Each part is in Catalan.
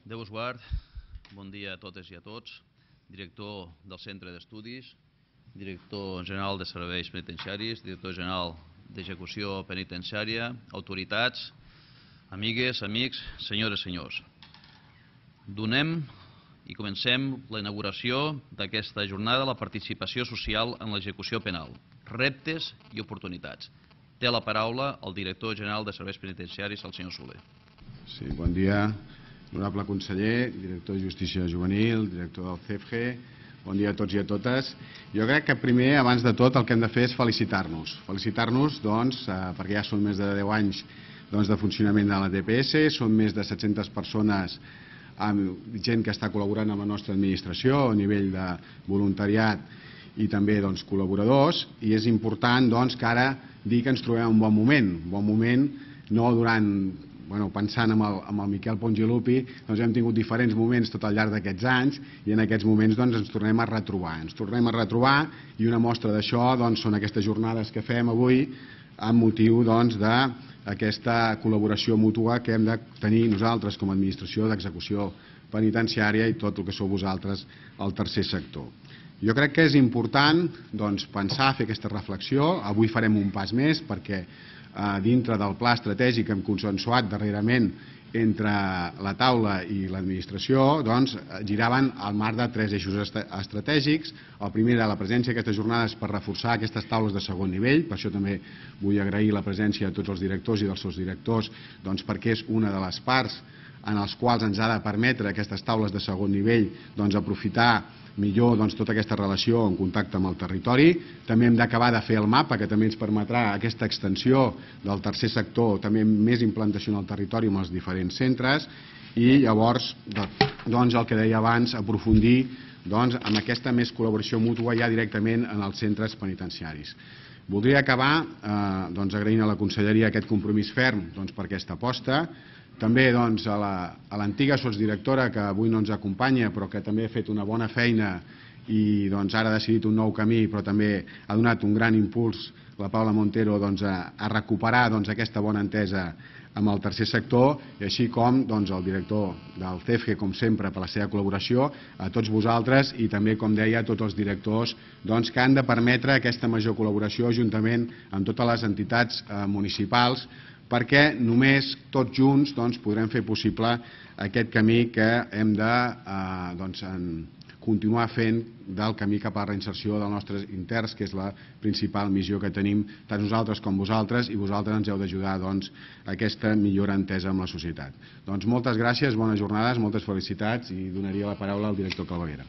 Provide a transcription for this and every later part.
Déu us guard, bon dia a totes i a tots, director del Centre d'Estudis, director general de Serveis Penitenciaris, director general d'Execució Penitenciària, autoritats, amigues, amics, senyores i senyors. Donem i comencem la inauguració d'aquesta jornada de la participació social en l'execució penal, reptes i oportunitats. Té la paraula el director general de Serveis Penitenciaris, el senyor Soler. Sí, bon dia, honorable conseller, director de Justícia Juvenil, director del CEFG, bon dia a tots i a totes. Jo crec que primer, abans de tot, el que hem de fer és felicitar-nos. Felicitar-nos, doncs, perquè ja són més de 10 anys de funcionament de la DPS, són més de 700 persones amb gent que està col·laborant amb la nostra administració a nivell de voluntariat i també col·laboradors, i és important que ara dir que ens trobem en un bon moment, no durant, pensant en el Miquel Pons i Lupi, hem tingut diferents moments tot al llarg d'aquests anys i en aquests moments ens tornem a retrobar. Ens tornem a retrobar i una mostra d'això són aquestes jornades que fem avui amb motiu d'aquesta col·laboració mútua que hem de tenir nosaltres com a administració d'execució penitenciària i tot el que sou vosaltres al tercer sector. Jo crec que és important pensar, fer aquesta reflexió. Avui farem un pas més perquè dintre del pla estratègic que hem consensuat darrerament entre la taula i l'administració giraven al marc de 3 eixos estratègics. El primer era la presència d'aquestes jornades per reforçar aquestes taules de segon nivell, per això també vull agrair la presència de tots els directors i dels seus directors perquè és una de les parts en les quals ens ha de permetre aquestes taules de segon nivell aprofitar millor tota aquesta relació en contacte amb el territori. També hem d'acabar de fer el mapa, que també ens permetrà aquesta extensió del tercer sector, també més implantació en el territori amb els diferents centres, i llavors, el que deia abans, aprofundir amb aquesta més col·laboració mútua ja directament en els centres penitenciaris. Voldria acabar agraint a la conselleria aquest compromís ferm per aquesta aposta. També a l'antiga sotsdirectora, que avui no ens acompanya, però que també ha fet una bona feina i ara ha decidit un nou camí, però també ha donat un gran impuls, la Paula Montero, a recuperar aquesta bona entesa amb el tercer sector, i així com el director del CEFG, com sempre, per la seva col·laboració, a tots vosaltres i també, com deia, a tots els directors que han de permetre aquesta major col·laboració juntament amb totes les entitats municipals, perquè només tots junts podrem fer possible aquest camí que hem de continuar fent del camí cap a la reinserció dels nostres interns, que és la principal missió que tenim tant nosaltres com vosaltres, i vosaltres ens heu d'ajudar a aquesta millora entesa amb la societat. Moltes gràcies, bones jornades, moltes felicitats, i donaria la paraula al director Calveguera.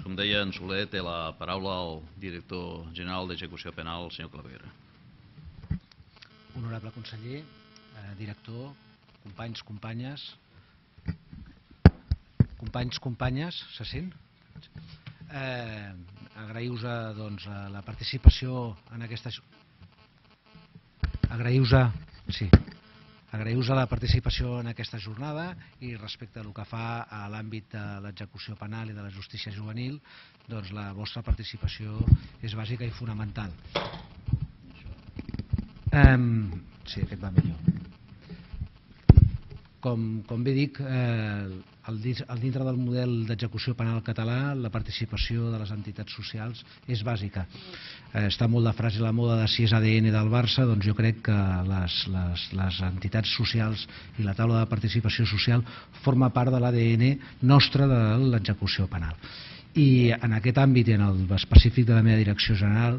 Com deia en Soler, té la paraula el director general d'Execució Penal, el senyor Claveguera. Honorable conseller, director, companys, companyes, se sent? Agraïu-vos la participació en aquesta... Agraïu-vos la participació en aquesta jornada, i respecte al que fa a l'àmbit de l'execució penal i de la justícia juvenil, la vostra participació és bàsica i fonamental. Sí, aquest va millor. Com bé dic, dintre del model d'execució penal català, la participació de les entitats socials és bàsica. Està molt de frase la moda de si és ADN del Barça, jo crec que les entitats socials i la taula de participació social forma part de l'ADN nostre de l'execució penal. I en aquest àmbit i en el específic de la meva direcció general,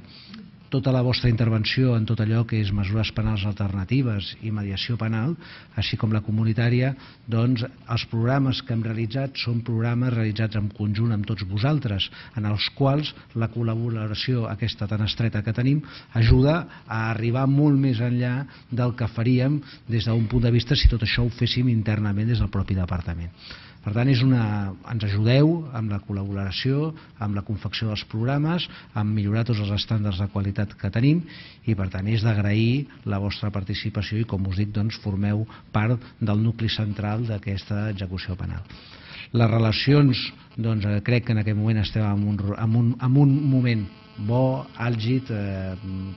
tota la vostra intervenció en tot allò que és mesures penals alternatives i mediació penal, així com la comunitària, els programes que hem realitzat són programes realitzats en conjunt amb tots vosaltres, en els quals la col·laboració aquesta tan estreta que tenim ajuda a arribar molt més enllà del que faríem des d'un punt de vista si tot això ho féssim internament des del propi departament. Per tant, ens ajudeu amb la col·laboració, amb la confecció dels programes, amb millorar tots els estàndards de qualitat que tenim, i per tant és d'agrair la vostra participació i, com us dic, formeu part del nucli central d'aquesta execució penal. Les relacions, crec que en aquest moment estem en un moment bo, àlgid,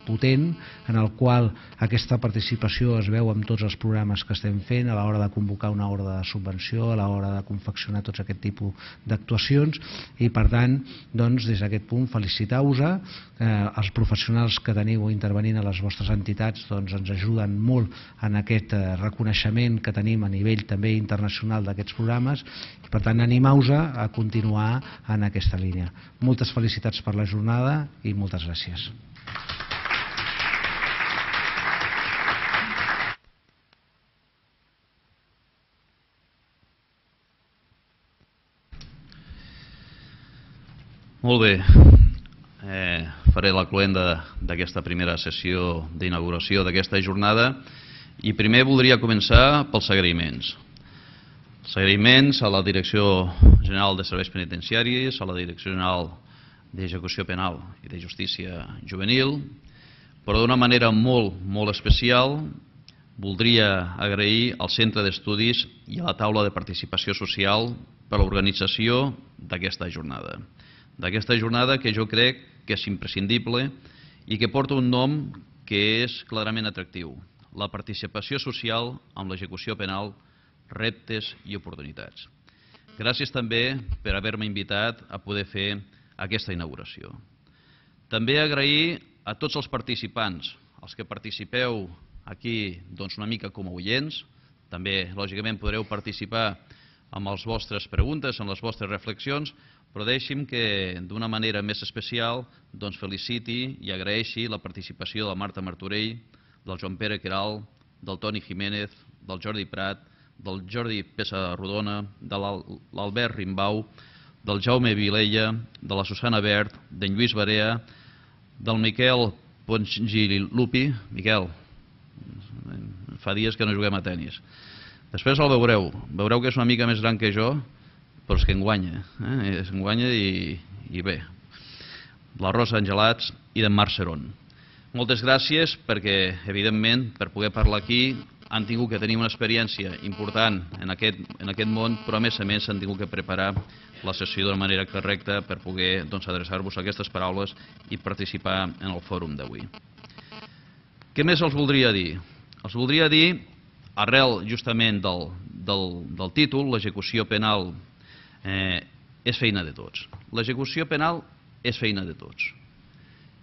potent, en el qual aquesta participació es veu amb tots els programes que estem fent a l'hora de convocar una ordre de subvenció, a l'hora de confeccionar tots aquest tipus d'actuacions, i per tant, doncs, des d'aquest punt felicitar-vos. Els professionals que teniu intervenint a les vostres entitats doncs, ens ajuden molt en aquest reconeixement que tenim a nivell també internacional d'aquests programes, i per tant animeu-vos a continuar en aquesta línia. Moltes felicitats per la jornada i moltes gràcies. Molt bé. Faré la cloenda d'aquesta primera sessió d'inauguració d'aquesta jornada i primer voldria començar pels agraïments. Els agraïments a la Direcció General de Serveis Penitenciaris, a la Direcció General d'Execució Penal i de Justícia Juvenil, però d'una manera molt especial voldria agrair al Centre d'Estudis i a la taula de participació social per l'organització d'aquesta jornada. D'aquesta jornada que jo crec que és imprescindible i que porta un nom que és clarament atractiu: la participació social amb l'execució penal, reptes i oportunitats. Gràcies també per haver-me invitat a poder fer aquesta inauguració. També agrair a tots els participants, els que participeu aquí doncs, una mica com a oients, també lògicament podreu participar amb les vostres preguntes, amb les vostres reflexions, però deixi'm que d'una manera més especial doncs, feliciti i agraeixi la participació de la Marta Martorell, del Joan Pere Queralt, del Toni Jiménez, del Jordi Prat, del Jordi Pessarrodona, de l'Albert Rimbau, del Jaume Vilella, de la Susana Bert, d'en Lluís Barea, del Miquel Pongilupi. Miquel, fa dies que no juguem a tenis. Després el veureu que és una mica més gran que jo, però és que enguanya, i bé. La Rosa Angelats i d'en Marc Serón. Moltes gràcies perquè, evidentment, per poder parlar aquí han tingut que tenir una experiència important en aquest món, però a més han tingut que preparar la sessió d'una manera correcta per poder adreçar-vos aquestes paraules i participar en el fòrum d'avui. Què més els voldria dir? Els voldria dir, arrel justament del títol, l'execució penal és feina de tots. L'execució penal és feina de tots.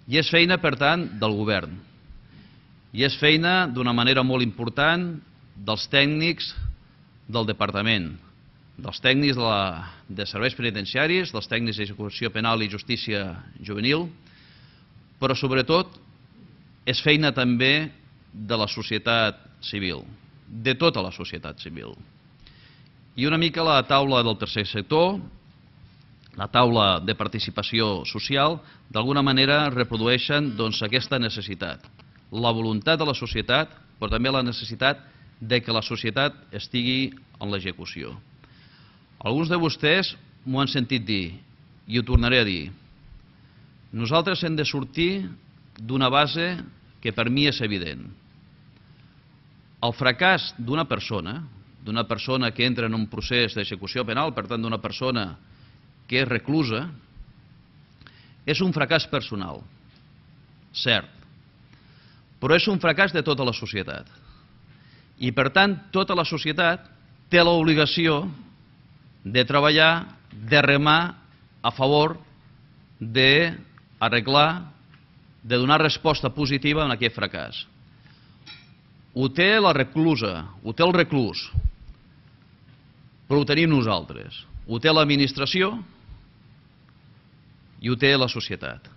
I és feina, per tant, del govern. I és feina, d'una manera molt important, dels tècnics del departament, dels tècnics de serveis penitenciaris, dels tècnics d'execució penal i justícia juvenil, però sobretot és feina també de la societat civil, de tota la societat civil. I una mica la taula del tercer sector, la taula de participació social, d'alguna manera reprodueixen aquesta necessitat. La voluntat de la societat, però també la necessitat de que la societat estigui en l'execució. Alguns de vostès m'ho han sentit dir, i ho tornaré a dir. Nosaltres hem de sortir d'una base que per mi és evident. El fracàs d'una persona que entra en un procés d'execució penal, per tant d'una persona que és reclusa, és un fracàs personal, cert, però és un fracàs de tota la societat. I per tant, tota la societat té l'obligació de treballar, de remar a favor d'arreglar, de donar resposta positiva a aquest fracàs. Ho té la reclusa, ho té el reclús, però ho tenim nosaltres. Ho té l'administració i ho té la societat.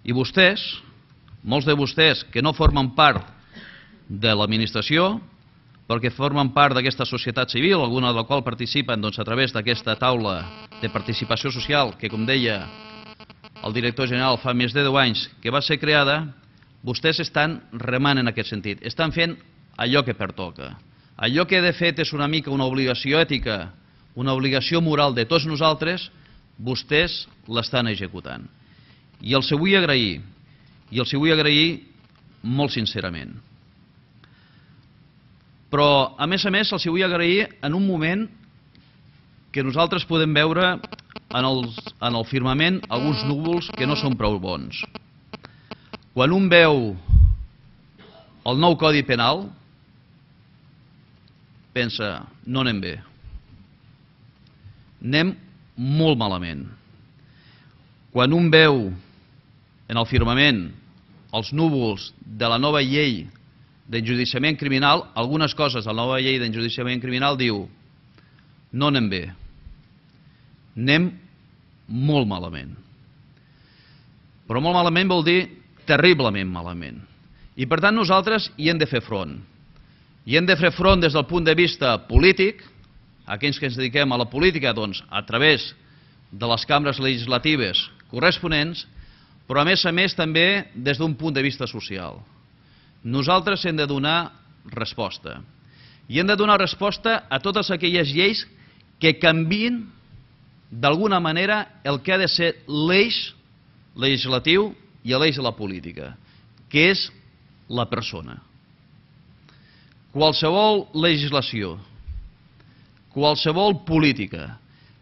I vostès, molts de vostès que no formen part de l'administració, perquè formen part d'aquesta societat civil, alguna de la qual participen a través d'aquesta taula de participació social, que com deia el director general fa més de 10 anys que va ser creada, vostès estan remant en aquest sentit, estan fent allò que pertoca. Allò que de fet és una mica una obligació ètica, una obligació moral de tots nosaltres, vostès l'estan executant. I els vull agrair, molt sincerament. Però, a més, els vull agrair en un moment que nosaltres podem veure en el firmament alguns núvols que no són prou bons. Quan un veu el nou Codi Penal, pensa, no anem bé. Anem molt malament. Quan un veu en el firmament els núvols de la nova llei d'enjudiciament criminal, algunes coses de la nova llei d'enjudiciament criminal diu no anem bé, anem molt malament. Però molt malament vol dir terriblement malament. I per tant nosaltres hi hem de fer front. I hem de fer front des del punt de vista polític, aquells que ens dediquem a la política, doncs, a través de les cambres legislatives corresponents, però a més també des d'un punt de vista social. Nosaltres hem de donar resposta. I hem de donar resposta a totes aquelles lleis que canviïn d'alguna manera el que ha de ser l'eix legislatiu i l'eix de la política, que és la persona. Qualsevol legislació, qualsevol política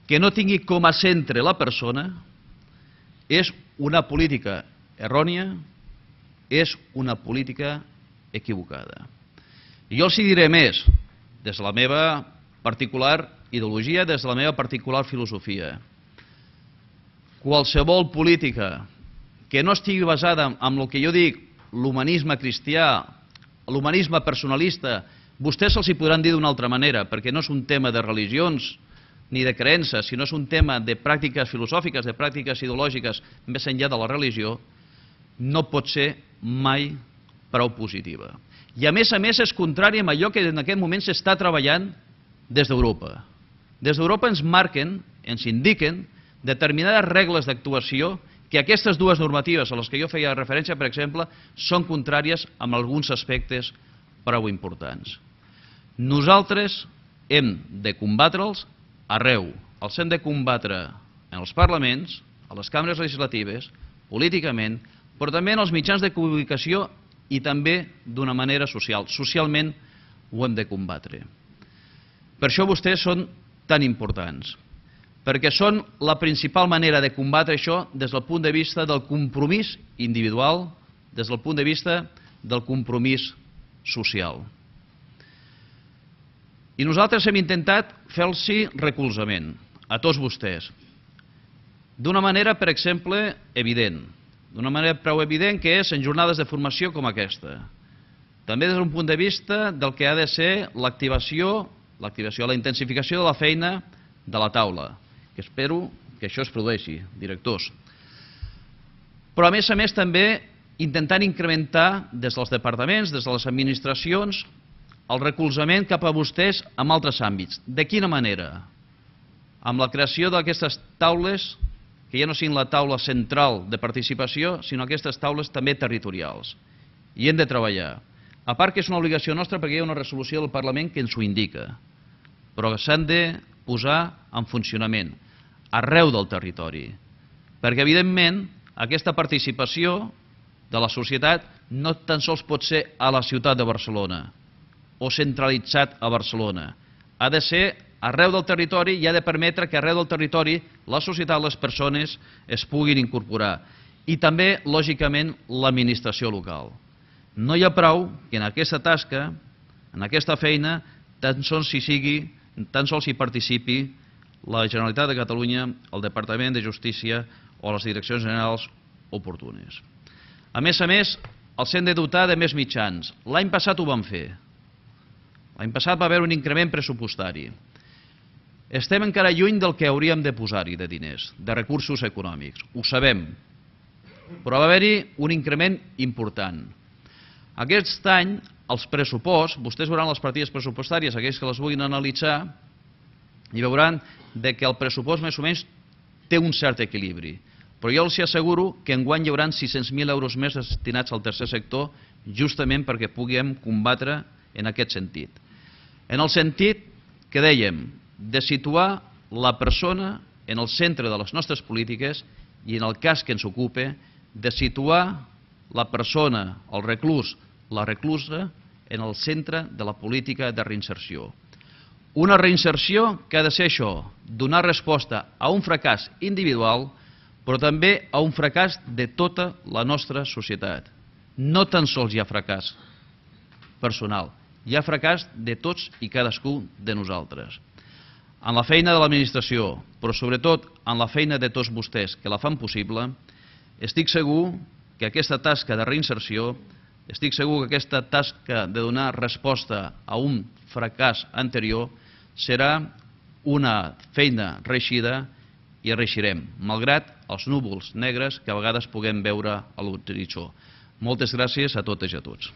que no tingui com a centre la persona és una política errònia, és una política equivocada. I jo els diré més, des de la meva particular ideologia, des de la meva particular filosofia. Qualsevol política que no estigui basada en el que jo dic l'humanisme cristià, l'humanisme personalista, vostès se'ls hi podran dir d'una altra manera, perquè no és un tema de religions ni de creences, sinó és un tema de pràctiques filosòfiques, de pràctiques ideològiques més enllà de la religió, no pot ser mai prou positiva. I a més és contrari a allò que en aquest moment s'està treballant des d'Europa. Des d'Europa ens marquen, ens indiquen determinades regles d'actuació que aquestes dues normatives a les que jo feia referència, per exemple, són contràries en alguns aspectes prou importants. Nosaltres hem de combatre'ls arreu. Els hem de combatre en els parlaments, a les cambres legislatives, políticament, però també en els mitjans de comunicació i també d'una manera social. Socialment ho hem de combatre. Per això vostès són tan importants, perquè són la principal manera de combatre això des del punt de vista del compromís individual, des del punt de vista del compromís social. I nosaltres hem intentat fer-los recolzament a tots vostès, d'una manera, per exemple, evident, d'una manera prou evident que és en jornades de formació com aquesta. També des d'un punt de vista del que ha de ser l'activació, la intensificació de la feina de la taula, que espero que això es produeixi, directors. Però a més també intentant incrementar des dels departaments, des de les administracions, el recolzament cap a vostès en altres àmbits. De quina manera? Amb la creació d'aquestes taules, que ja no siguin la taula central de participació, sinó aquestes taules també territorials. I hem de treballar. A part que és una obligació nostra perquè hi ha una resolució del Parlament que ens ho indica, però s'han de posar en funcionament arreu del territori, perquè evidentment aquesta participació de la societat no tan sols pot ser a la ciutat de Barcelona o centralitzat a Barcelona, ha de ser arreu del territori i ha de permetre que arreu del territori la societat, les persones es puguin incorporar i també, lògicament, l'administració local. No hi ha prou que en aquesta tasca, en aquesta feina, tan sols hi participi la Generalitat de Catalunya, el Departament de Justícia o les direccions generals oportunes. A més, els hem de dotar de més mitjans. L'any passat ho vam fer. L'any passat va haver un increment pressupostari. Estem encara lluny del que hauríem de posar-hi de diners, de recursos econòmics. Ho sabem. Però va haver-hi un increment important. Aquest any, els pressuposts, vostès veuran les partides pressupostàries, aquells que les vulguin analitzar, i veuran que el pressupost més o menys té un cert equilibri. Però jo els asseguro que enguany hi haurà 600.000 euros més destinats al tercer sector justament perquè puguem combatre en aquest sentit. En el sentit que dèiem de situar la persona en el centre de les nostres polítiques i en el cas que ens ocupa de situar la persona, el reclús, la reclusa en el centre de la política de reinserció. Una reinserció que ha de ser això, donar resposta a un fracàs individual, però també a un fracàs de tota la nostra societat. No tan sols hi ha fracàs personal, hi ha fracàs de tots i cadascú de nosaltres. En la feina de l'administració, però sobretot en la feina de tots vostès que la fan possible, estic segur que aquesta tasca de reinserció, estic segur que aquesta tasca de donar resposta a un fracàs anterior serà una feina reeixida i reeixirem, malgrat els núvols negres que a vegades puguem veure a l'horitzó. Moltes gràcies a totes i a tots.